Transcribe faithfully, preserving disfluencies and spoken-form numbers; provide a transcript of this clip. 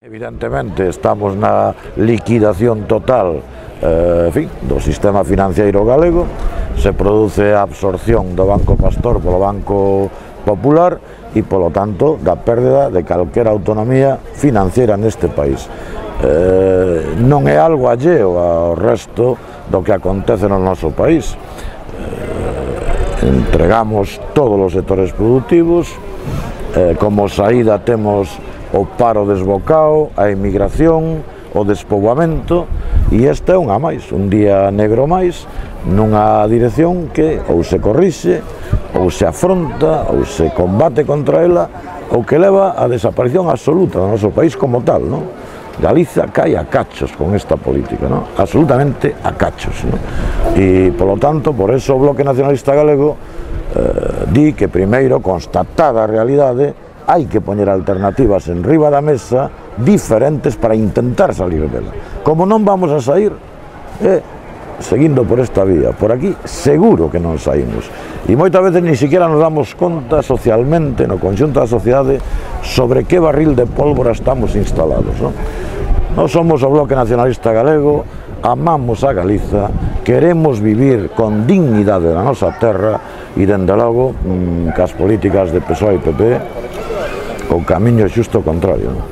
Evidentemente estamos na liquidación total eh, en fin, do sistema financiero galego. Se produce a absorción do Banco Pastor polo Banco Popular e, polo tanto, da pérdida de calquera autonomía financiera neste país. Eh, non é algo alleo ao resto do que acontece no noso país. Eh, entregamos todos os sectores productivos, eh, como saída temos o paro desbocado, a emigración, o despoboamento, e este é unha máis, un día negro máis, nunha dirección que ou se corrixe, ou se afronta, ou se combate contra ela, ou que leva a desaparición absoluta do noso país como tal, non? Galiza cae a cachos con esta política, non? Absolutamente a cachos, non? E, polo tanto, por eso o Bloque Nacionalista Galego eh, di que primeiro, constatada a realidade, hai que poñer alternativas en riba da mesa diferentes para intentar salir dela. Como non vamos a sair, eh, seguindo por esta vía, por aquí seguro que non saímos. E moitas veces ni siquiera nos damos conta socialmente, no conxunto da sociedade, sobre que barril de pólvora estamos instalados, non? Nós somos o Bloque Nacionalista Galego, amamos a Galiza, queremos vivir con dignidade na nosa terra e, dende logo, cas políticas de P S O E e P P, o camiño é xusto o contrario, non?